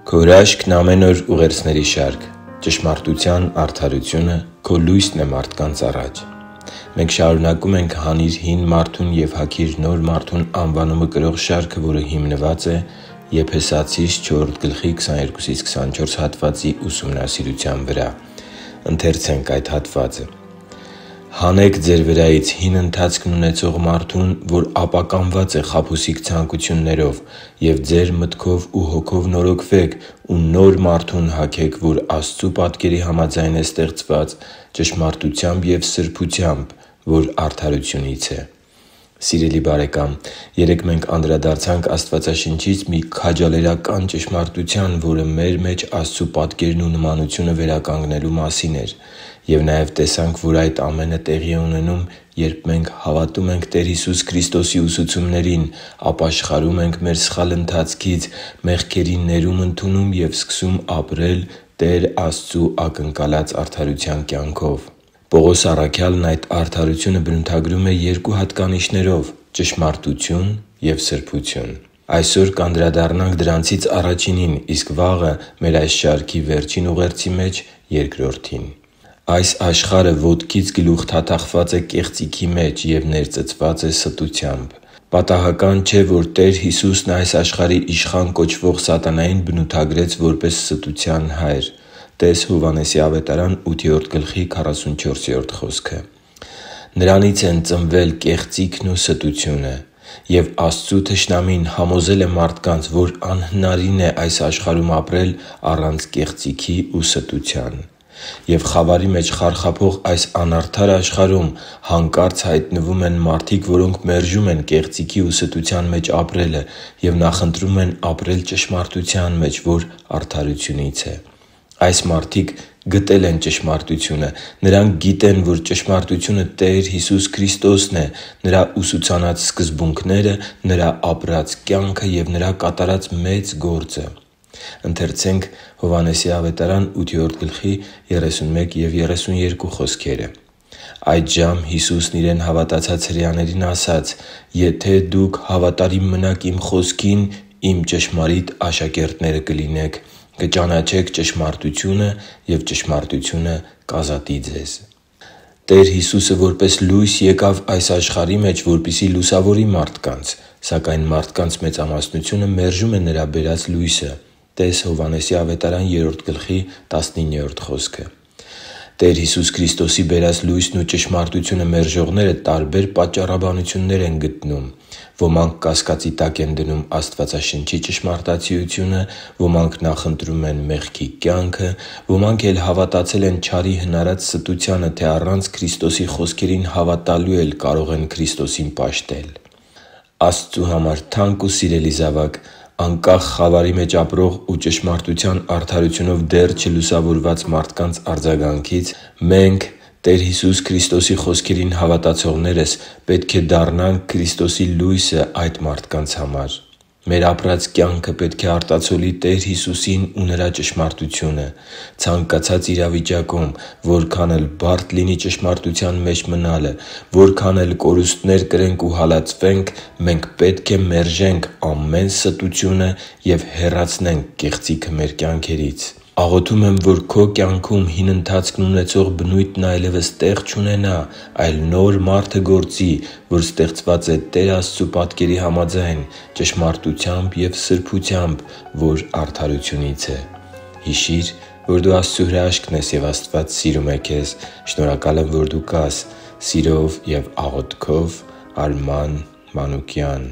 Քո հրաշքն ամեն օր ուղերձների շարք։ Ճշմարտության արդարությունը քո լույսն է մարդկանց առաջ։ Մենք շարունակում ենք «Հանիր հին մարդուն և հագիր նոր մարդուն» անվանումը կրող շարքը, որը հիմնված է Եփեսացիս 4:22-24 հատվածի ուսումնասիրության վրա։ Ընթերցենք այդ հատվածը. «Հանեք ձեր վրայից հին ընթացքն ունեցող մարդուն, որ ապականված է խաբուսիկ ցանկություններով, և ձեր մտքով ու հոգով նորոգվեք ու նոր մարդուն հագեք, որ Աստծու պատկերի համաձայն է ստեղծված, ճշմարտությամբ և սրբությամբ, որ արդարությունից է» Սիրելի՛ բարեկամ, երեկ մենք անդրադարձանք Աստվածաշնչից մի քաջալերական ճշմարտության, որը մեր մեջ Աստծու պատկերն ու նմանությունը վերականգնելու մասին էր։ Եվ նաև տեսանք, որ այդ ամենը տեղի է ունենում, երբ մենք հավատում ենք Տեր Հիսուս Քրիստոսի ուսուցումներին, ապաշխարում ենք մեր սխալ ընթացքից, մեղքերի ներում ընդունում և սկսում ապրել Տեր Աստծու ակնկալած արդարության կյանքով։ Պողոս առաքյալն այդ արդարությունը բնութագրում է երկու հատկանիշներով՝ ճշմարտություն և սրբություն։ Այսօր կանդրադառնանք դրանցից առաջինին, իսկ վաղը մեր այս շարքի վերջին ուղերձի մեջ՝ երկրորդին։ Այս աշխարհը ոտքից գլուխ թաթախված է կեղծիքի մեջ և ներծծված է ստությամբ։ Պատահական չէ, որ Տեր Հիսուսն այս աշխարհի իշխան կոչվող սատանային բնութագրեց որպես ստության հայր (տե՛ս Հովհաննես 8:44 խոսքը)։ Նրանից են ծնվել կեղծիքն ու ստությունը։ Եվ Աստծու թշնամին համոզել է մարդկանց, որ անհնարին է այս աշխարհում ապրել առանց կեղծիքի ու ստության։ Եվ խավարի մեջ խարխափող այս անարդար աշխարհում հանկարծ հայտնվում են մարդիկ, որոնք մերժում են կեղծիքի ու ստության մեջ ապրելը և նախընտրում են ապրել ճշմարտության մեջ, որ արդարությունից է։ Այս մարդիկ գտել են ճշմարտությունը։ Նրանք գիտեն, որ ճշմարտությունը Տեր Հիսուս Քրիստոսն է, Նրա ուսուցանած սկզբունքները, Նրա ապրած կյանքը և Նրա կատարած մեծ գործը։ «Այդժամ Հիսուսն իրեն հավատացած հրեաներին ասաց. «Եթե դուք հավատարիմ մնաք իմ խոսքին, իմ ճշմարիտ աշակերտները կլինեք, կճանաչեք ճշմարտությունը, և ճշմարտությունը կազատի ձեզ»։ Տեր Հիսուսը որպես լույս եկավ այս աշխարհի մեջ, որպեսզի լուսավորի մարդկանց, սակայն մարդկանց մեծամասնությունը մերժում է Նրա բերած լույսը (տե՛ս Հովհաննես 3:19 խոսքը)։ Տեր Հիսուս Քրիստոսի բերած լույսն ու ճշմարտությունը մերժողները տարբեր պատճառաբանություններ են գտնում։ Ոմանք կասկածի տակ են դնում Աստվածաշնչի ճշմարտացիությունը, ոմանք նախընտրում են մեղքի կյանքը, ոմանք էլ հավատացել են չարի հնարած ստությանը, թե առանց Քրիստոսի խոսքերին հավատալու էլ կարող են Քրիստոսին պաշտել։ Աստծու համար թանկ ու սիրելի՛ զավակ, անկախ խավարի մեջ ապրող ու ճշմարտության արդարությունով դեռ չլուսավորված մարդկանց արձագանքից, մենք՝ Տեր Հիսուս Քրիստոսի խոսքերին հավատացողներս, պետք է դառնանք Քրիստոսի լույսը այդ մարդկանց համար։ Մեր ապրած կյանքը պետք է արտացոլի Տեր Հիսուսին ու Նրա ճշմարտությունը։ Ցանկացած իրավիճակում, որքան էլ բարդ լինի ճշմարտության մեջ մնալը, որքան էլ կորուստներ կրենք ու հալածվենք, մենք պետք է մերժենք ամեն ստությունը և հեռացնենք կեղծիքը մեր կյանքերից։ Աղոթում եմ, որ քո կյանքում հին ընթացքն ունեցող բնույթն այլևս տեղ չունենա, այլ նոր մարդը գործի, որ ստեղծված է Տեր Աստծու պատկերի համաձայն, ճշմարտությամբ և սրբությամբ, որ արդարությունից է։ Հիշի՛ր, որ դու Աստծո հրաշքն ես, և Աստված սիրում է քեզ։ Շնորհակալ եմ, որ դու կա՛ս։ Սիրով և աղոթքով՝ Արման Մանուկյան։